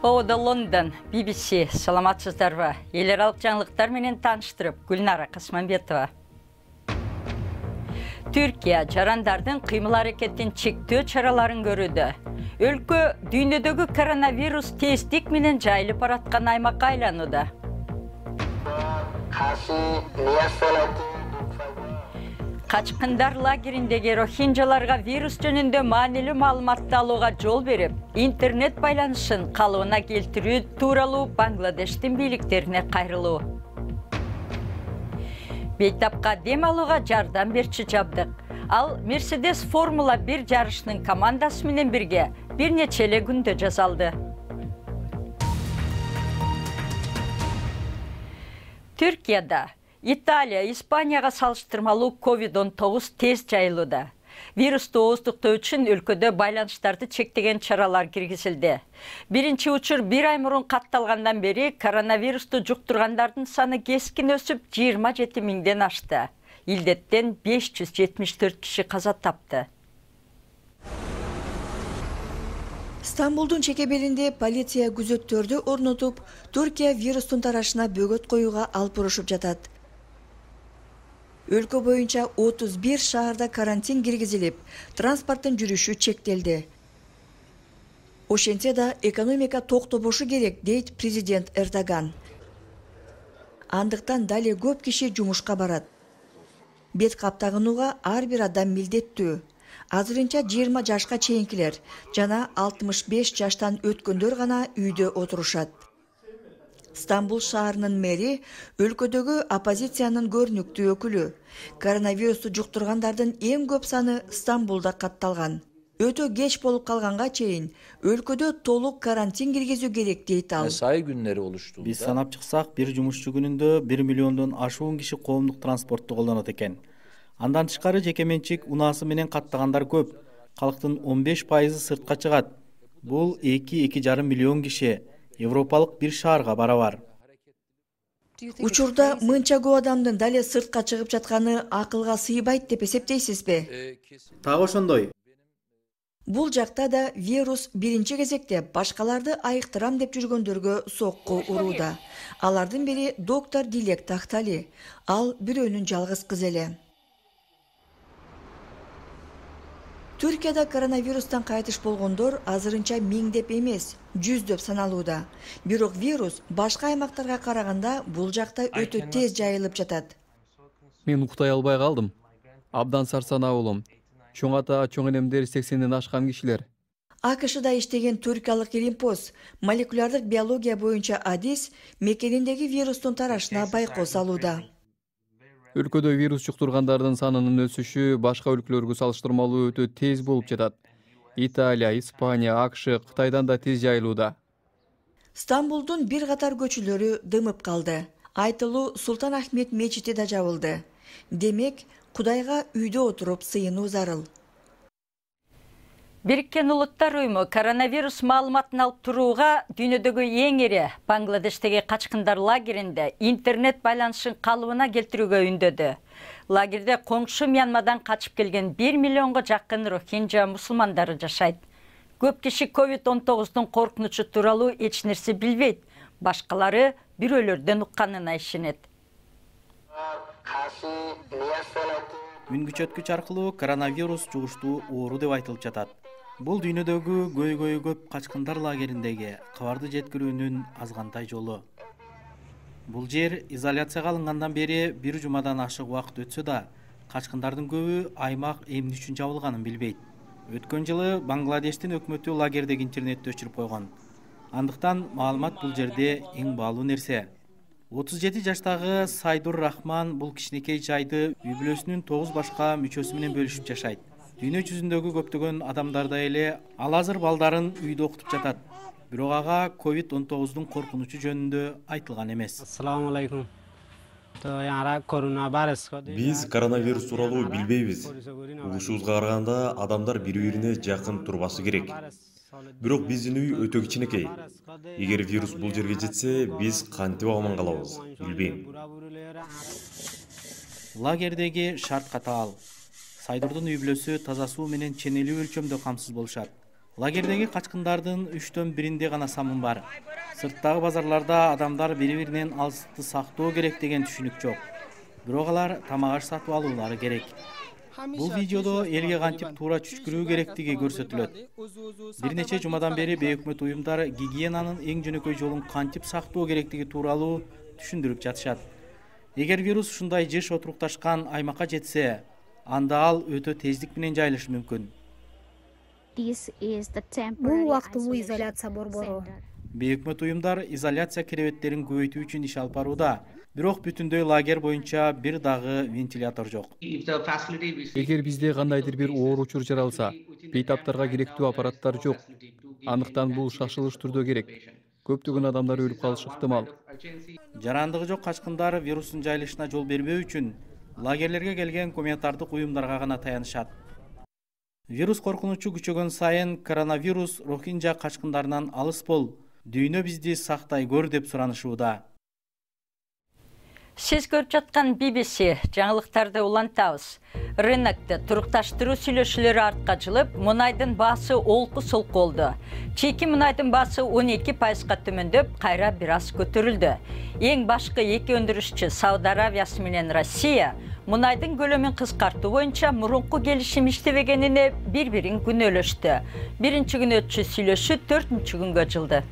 Ода Лондон, BBC, саламатсыздарбы? Эл аралык жаңылыктар менен тааныштырып, Гүлнара Касманбетова. Түркия жарандардын кыймыл аракетин чектөө чараларын көрүүдө. Өлкө дүйнөдөгү коронавирус тесттик менен жайылып бараткан аймакка айланууда. Качкындар лагериндеги рохинджаларга вирус жөнүндө маанилүү маалыматты алууга жол берип, интернет байланышын калыбына келтирүү тууралуу Бангладештин бийликтерине кайрылуу. Бейтапка дем алууга жардам берчи жабдык. Ал Mercedes Формула 1 жарышынын командасы менен бирге бир нече эле күндө жасалды. Түркияда Италия, Испанияга салыштырмалуу COVID-19 тез жайылууда. Вирусту ооздуктоо үчүн өлкөдө байланыштарды чектеген чаралар киргизилди. Биринчи учур бир ай мурун катталгандан бери коронавирусту жуктургандардын саны кескин өсүп 27 миңден ашты. Илдеттен 574 киши каза тапты. Стамбулдун чекебелинде полиция күзөттөрдү орнотуп, Түркия вирустун тарашына бөгөт коюуга алып урушуп жатат. Өлкө боюнча 31 шаарда карантин киргизилип, транспорттун жүрүшү чектелди. Ошентсе да экономика токтобошу керек, дейт президент Эрдоган. Андыктан дале көп киши жумушка барат. Бет каптагынууга ар бир адам милдеттүү. Азырынча 20 жашка чейинкилер жана 65 жаштан өткөндөр гана үйдө отурушат. Стамбул шаарынын мэри өлкөдөгү оппозициянын көрүнүктүү өкүлү. Коронавирусту жуктургандардын эң көп саны Стамбулда катталган. Өтө кеч болуп калганга чейин өлкөдө толук карантин киргизүү керек, дейт ал. Сай күннери олушту. Биз санап чыксак, бир жумушчу күнүндө 1 миллиондон ашуун киши коомдук транспортту колдонот экен. Андан тышкары жекеменчик унаасы менен каттагандар көп. Калктын 15% сыртка чыгат. Бул 2-2,5 миллион киши. Европалык бир шаарга барабар. Учурда мынча көп адамдын дале сыртка чыгып жатканы акылга сыйбайт деп эсептейсизби? Так ошондой. Бул жакта да вирус биринчи кезекте башкаларды айыктырам деп жүргөндөргө сокку урууда. Алардын бири доктор Дилек Тахтали. Ал бирөөнүн жалгыз кызы эле. Түркияда коронавирустан кайтыш болгондор азырынча миңдеп эмес, жүздөп саналууда. Бирок вирус башка аймактарга караганда бул жакта өтө тез жайылып жатат. Мен уктай албай калдым. Абдан сарсанаа болом. Чоң ата, чоң энемдер 80ден ашкан кишилер. АКШда иштеген түркиялык Илимпоз молекулярдык биология боюнча адис мекениндеги вирустун тарашына байкоо салууда. Өлкөдө вирус жуктургандардын санынын өсүшү башка өлкөлөргө салыштырмалуу өтө тез болуп жатат. Италия, Испания, АКШ, Кытайдан да тез жайылууда. Стамбулдун бир катар көчөлөрү дымып калды. Айтылуу Султан Ахмет мечити да жабылды. Демек, Кудайга үйдө отуруп сыйынуу зарыл. Бириккен Улуттар Уюму коронавирус маалыматын алып турууга дүйнөдөгү эң ири Бангладештеги качкындар лагеринде интернет байланышын калыбына келтирүүгө үндөдү. Лагерде коңшу Мьянмадан качып келген 1 миллионго жакын рохинджа мусулмандары жашайт. Көп киши COVID-19 коркунучу тууралуу эч нерсе билбейт. Башкалары бирөөлөрдөн укканына ишенет. Үн күчөткүч аркылуу коронавирус жугуштуу оору деп айтылып жатат. Бул дүйнөдөгү көйгөйү көп качкындар лагериндеги кабарды жеткирүүнүн азгантай жолу. Бул жер изоляцияга алынгандан бери бир жумадан ашык убакыт өтсө да, качкындардын көбү аймак эмне үчүн жабылганын билбейт. Өткөн жылы Бангладештин өкмөтү лагердеги интернетти өчүрүп койгон. Андыктан маалымат бул жерде эң баалуу нерсе. 37 жаштагы Сайдур Рахман бул кичинекей жайды үй бүлөсүнүн 9 башка мүчөсү менен бөлүшүп жашайт. Дүйнө жүзүндөгү көптөгөн адамдардай эле ал азыр балдарын үйдө окутуп жатат. Бирок ага COVID-19 коркунучу жөнүндө айтылган эмес. Assalamu alaikum. Биз коронавирус тууралуу билбейбиз. Угушубузга караганда адамдар бири-бирине жакын турбасы керек. Бирок биздин үй өтө кичинекей. Эгер вирус бул жерге жетсе, биз кантип аман калабыз, билбейм. Лагердеги шарт катаал. Сайдурдун үй бүлөсү таза суу менен ченелүү өлчөмдө камсыз болушат. Лагердеги качкындардын 3/1 гана самын бар. Сырттагы базарларда адамдар бири-биринен алыстыкты сактоо керек деген түшүнүк жок. Бирок алар тамак аш сатып алуулары керек. Бул видеодо элге кантип туура түшкүрүү керектиги көрсөтүлөт. Бир нече жумадан бери бейөкмөт уюмдар гигиенанын эң жөнөкөй жолун кантип сактоо керектиги тууралуу түшүндүрүп жатышат. Эгер вирус ушундай жыш отурукташкан аймакка жетсе, анда ал өтө тездик менен жайылышы мүмкүн. Бул убактылуу изоляция борбору. Бейөкмөт уюмдар изоляция керебеттерин көбөйтүү үчүн иш алып барууда, бирок бүтүндөй лагерь боюнча бир дагы вентилятор жок. Эгер бизде кандайдыр бир оор учур жаралса, бейтаптарга керектүү аппараттар жок. Андыктан бул шашылыш түрдө керек. Көптөгөн адамдар өлүп калышы ыктымал. Жарандыгы жок качкындар вирустун жайылышына жол бербөө үчүн лагерлерге келген гуманитардык уюмдарга гана таянышат. Вирус коркунучу күчөгөн сайын коронавирус Рохинджа качкындарынан алыс бол, дүйнө бизди сактай көр деп суранышууда. Сиз көрүп жаткан BBC жаңылыктарды улантабыз. Рынокто турукташтыруу сүйлөшүүлөрү артка жылып, мунайдын баасы олку-солку болду. Чийки мунайдын баасы 12%га төмөндөп, кайра бир аз көтөрүлдү. Эң башкы эки өндүрүшчү Сауд Арабиясы менен Россия мунайдын көлөмүн кыскартуу боюнча мурунку келишим иштебегенине бири-бирин күнөөлөштү. Биринчи күнөөчү сүйлөшүү 4-күнгө жылды.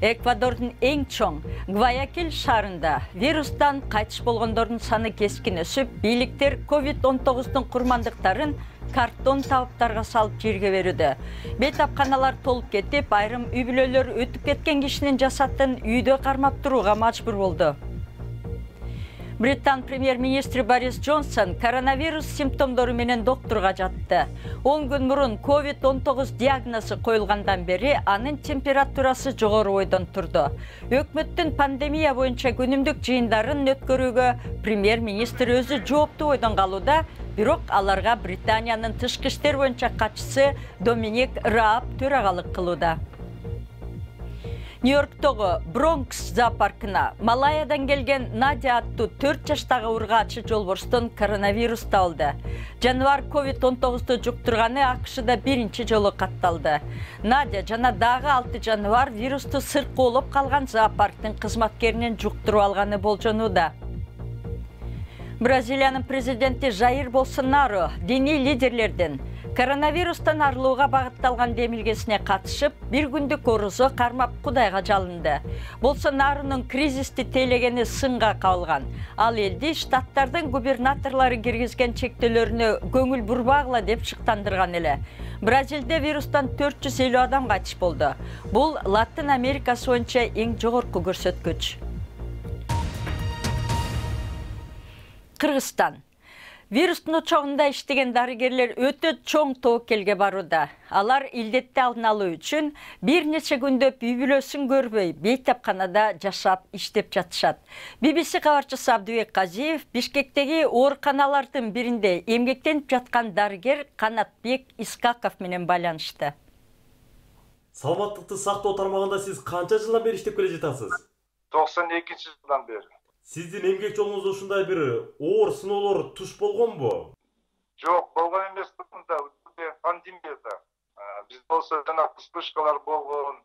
Эквадордун эң чоң Гваякил шаарында вирустан кайтыш болгондордун саны кескин өсүп, бийликтер COVID-19 курмандыктарын картон табыптарга салып жерге берүүдө. Бейтапканалар толуп кетип, айрым үй бүлөлөр өтүп кеткен кишинин жасатын үйдө кармап турууга мажбур болду. Британ премьер-министри Борис Джонсон коронавирус симптомдору менен доктурга жатты. 10 күн мурун COVID-19 диагнозу коюлгандан бери анын температурасы жогору бойдон турду. Өкмөттүн пандемия боюнча күнүмдүк жыйындарын өткөрүүгө премьер-министр өзү жооптуу бойдон калууда, бирок аларга Британиянын тышкы иштер боюнча катчысы Доминик Рааб төрагалык кылууда. Нью-Йорктогу Бронкс зоопаркына Малайядан келген Надя аттуу 4 жаштагы ургаачы жолборстон коронавирус табылды. Жаныбар COVID-19 жуктурганы АКШда биринчи жолу катталды. Надя жана дагы 6 жаныбар вирусту сыркоолоп калган зоопарктын кызматкеринен жуктуруп алганы болжонууда. Бразилиянын президенти Жаир Болсонару диний лидерлердин коронавирустан арылууга багытталган демилгесине катышып, бир күндүк орузо кармап Кудайга жалынды. Болсонарунун кризисти тейлегени сынга кабылган. Ал элди штаттардын губернаторлору киргизген чектөөлөрүнө көңүл бурбагыла деп шыктандырган эле. Бразилде вирустан 450 адам кайтыш болду. Бул Латын Америкасы боюнча эң жогорку көрсөткүч. Кыргызстан. Вирустун очогунда иштеген дарыгерлер өтө чоң тобокелге барууда. Алар илдетти алдын алуу үчүн бир нече күндөп үй бүлөсүн көрбөй, бейтапканада жашап, иштеп жатышат. BBC кабарчысы Абдыбек Казиев Бишкектеги ооруканалардын биринде эмгектенип жаткан дарыгер Канатбек Искаков менен байланышты. Саламаттыкты сактоо тармагында сиз канча жылдан бери иштеп келе жатасыз? 92-жылдан бери. Сиздин эмгек жолуңузда ушундай бир оор сыноолор туш болгонбу? Жок, болгон эмес, мында пандемияда. Бизде болсо жана вспышкалар болгон.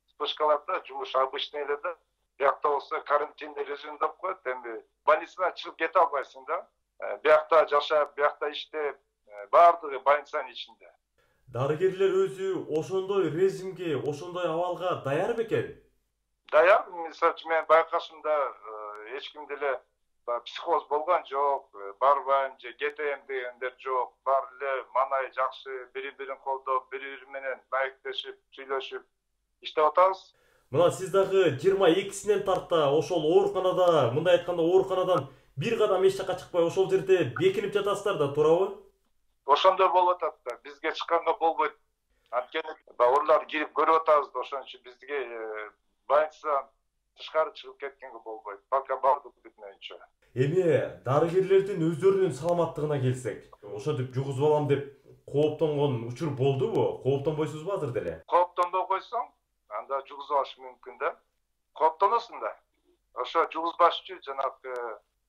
Вспышкаларда жумуш обычный эле да. Биякта болсо карантин режим деп коет, эми больницадан чыгып кете албайсың да. Биякта жашап, биякта иштеп, баардыгы больницанын ичинде. Дарыгерлер өзү ошондой режимге, ошондой абалга даяр бекен? Даяр, мисалы үчүн мен байкашымда эч кимде эле психоз болгон жок, барбайм же кетем дегендер жок. Баары эле манай жакшы, бири-бирин колдоп, бири-бири менен маектешип, сүйлөшүп иштеп атабыз. Мына сиз дагы 22-синен тарта ошол ооруканада, мындай айтканда ооруканадан бир кадам эч жакка чыкпай ошол жерде бекинип жатасыздар да, туурабы? Ошондой болуп атат да. Бизге чыкканга болбойт. Анткени орлар кирип көрүп атабыз да, ошон үчүн бизге больницадан тышкары чыгып кеткенге болбойт. Пока бардык бүтүнөйүнчө. Эми дарыгерлердин өздөрүнүн саламаттыгына келсек, ошентип жугузуп алам деп кооптонгон учур болдубу? Кооптонбойсузбу азыр деле? Кооптонбой койсоң, анда жугузуп алыш мүмкүн да. Кооптоносуң да. Ошо жугузбаш үчүн жанагы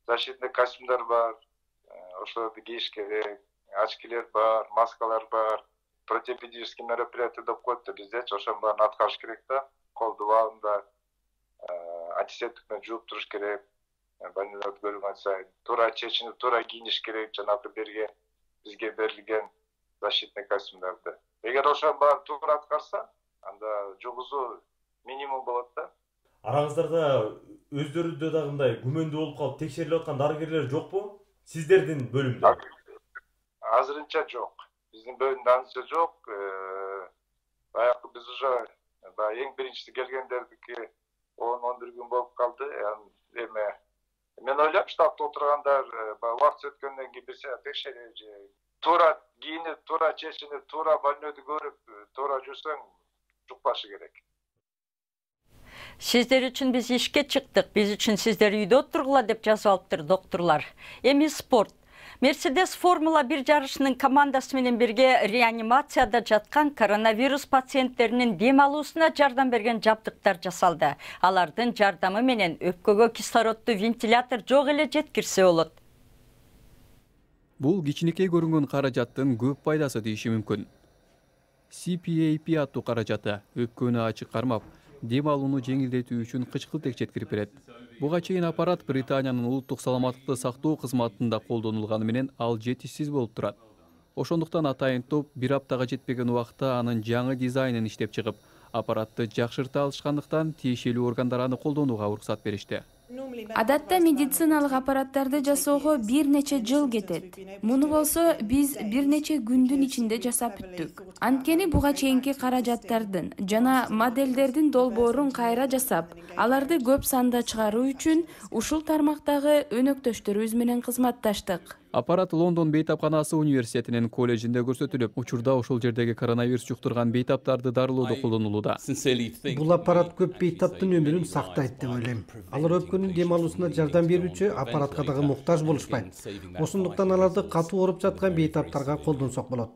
защитный костюмдар бар, ошолорду кийиш керек, очкилер бар, маскалар бар. противоэпидемический мероприятие деп коет да, биздечи ошонун баарын аткарыш керек да. Колду убагында антисептик менен жууп туруш керек. Больнолорду көргөн сайын туура чечинип, туура кийиниш керек, жанагы бизге берилген защитный костюмдарды. Эгер ошонун баарын туура аткарса, анда жугузуу минимум болот да. Араңыздарда өздөрүндө дагы мындай күмөндүү болуп калып текшерилип аткан дарыгерлер жокпу? Сиздердин бөлүмдө? Азырынча жок. Биздин бөлүмдө азырынча жок. Баягы биз уже эң биринчиси келгендердики 10-11 күн болуп калды. Эми мен ойлойм, штабта отургандар убакыт өткөндөн кийин бир сыяк текшерип, туура кийинип, туура чечинип, туура больнойду көрүп, туура жүрсөң жукпашы керек. Сиздер үчүн биз ишке чыктык, биз үчүн сиздер үйдө отургула деп жазып алыптыр доктурлар. Эми спорт. Мерседес Формула 1 жарышынын командасы менен бирге реанимацияда жаткан коронавирус пациенттеринин дем алуусуна жардам берген жабдыктар жасалды. Алардын жардамы менен өпкөгө кислородду вентилятор жок эле жеткирсе болот. Бул кичинекей көрүнгөн каражаттын көп пайдасы дейиши мүмкүн. CPAP аттуу каражаты өпкөнү ачык кармап, дем алууну жеңилдетүү үчүн кычкылтек жеткирип берет. Буга чейин аппарат Британиянын улуттук саламаттыкты сактоо кызматында колдонулганы менен ал жетишсиз болуп турат. Ошондуктан атайын топ бир аптага жетпеген убакта анын жаңы дизайнын иштеп чыгып, аппаратты жакшырта алышкандыктан тиешелүү органдар аны колдонууга уруксат беришти. Адатта медициналык аппараттарды жасоого бир нече жыл кетет. Муну болсо биз бир нече күндүн ичинде жасап бүттүк. Анткени буга чейинки каражаттардын жана модельдердин долбоорун кайра жасап, аларды көп санда чыгаруу үчүн ушул тармактагы өнөктөштөрүбүз менен кызматташтык. Аппарат Лондон бейтапканасы университетинин колледжинде көрсөтүлүп, учурда ошол жердеги коронавирус жуктурган бейтаптарды дарылоодо колдонулууда. Бул аппарат көп бейтаптын өмүрүн сактайт деп ойлойм. Алар өпкөнүн дем алуусуна жардам берүүчү аппаратка дагы муктаж болушпайт. Ошондуктан аларды катуу ооруп жаткан бейтаптарга колдонсок болот.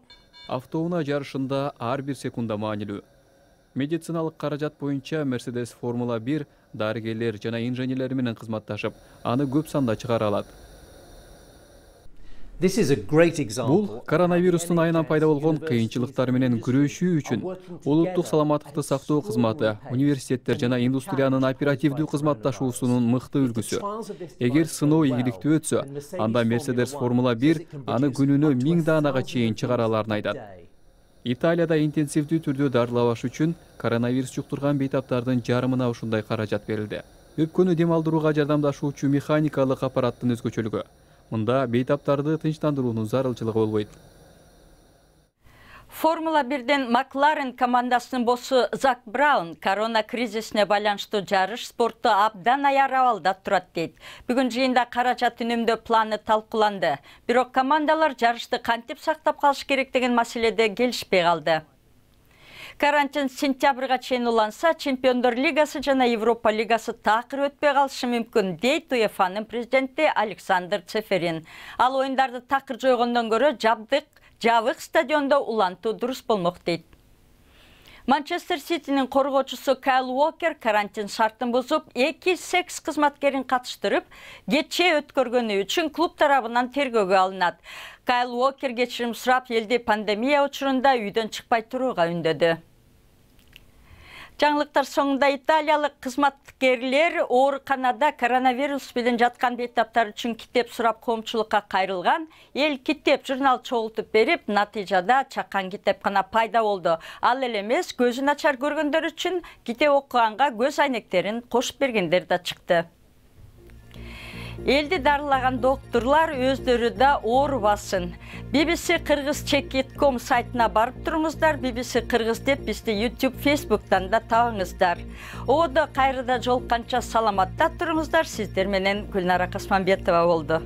Автоунаа жарышында ар бир секунда маанилүү. Медициналык каражат боюнча Mercedes Формула 1 дарыгерлер жана инженерлер менен кызматташып, аны көп санда чыгара алат. Бул коронавирустун айынан пайда болгон кыйынчылыктар менен күрөшүү үчүн улуттук саламаттыкты сактоо кызматы, университеттер жана индустриянын оперативдүү кызматташуусунун мыкты үлгүсү. Эгер сыноо ийгиликтүү өтсө, анда Mercedes Формула 1 аны күнүнө 1000 даанага чейин чыгара аларын айтат. Италияда интенсивдүү түрдө дарылабаш үчүн коронавирус жуктурган бейтаптардын жарымына ушундай каражат берилди. Өпкөнү дем алдырууга жардамдашуучу механикалык аппараттын өзгөчөлүгү. Мында бейтаптарды тынчтандыруунун зарылчылыгы болбойт. Формула 1ден Макларен командасынын боссу Зак Браун корона кризисине байланыштуу жарыш спортту абдан аяр абалда турат дейт. Бүгүн жыйында каражат үнөмдөө планы талкууланды. Бирок командалар жарышты кантип сактап калыш керек деген маселеде келишпей калды. Карантин сентябрга чейин уланса, Чемпиондор лигасы жана Европа лигасы такыр өтпөй калышы мүмкүн, дейт УЕФАнын президенти Александр Цеферин. Ал оюндарды такыр жойгондон көрө жабык стадиондо улантуу дурус болмок дейт. Манчестер Ситинин коргоочусу Кайл Уокер карантин шартын бузуп, 2 секс кызматкерин катыштырып, кечээ өткөргөнү үчүн клуб тарабынан тергөөгө алынат. Кайл Уокер кечирим сурап, элди пандемия учурунда үйдөн чыкпай турууга үндөдү. Жаңылыктар соңунда италиялык кызматкерлер ооруканада коронавирус менен жаткан бейтаптар үчүн китеп сурап коомчулукка кайрылган. Эл китеп журнал чогултуп берип, натыйжада чакан китепкана пайда болду. Ал эле эмес, көзү начар көргөндөр үчүн китеп окуганга көз айнектерин кошуп бергендер да чыкты. Элди дарылаган доктурлар өздөрү да оорубасын. BBC Кыргыз Check.com сайтына барып туруңуздар. BBC Кыргыз деп бизди YouTube, Facebook'тан да табыңыздар. Одо кайрыда жолукканча саламатта туруңуздар. Сиздер менен Гүлнара Касманбетова болду.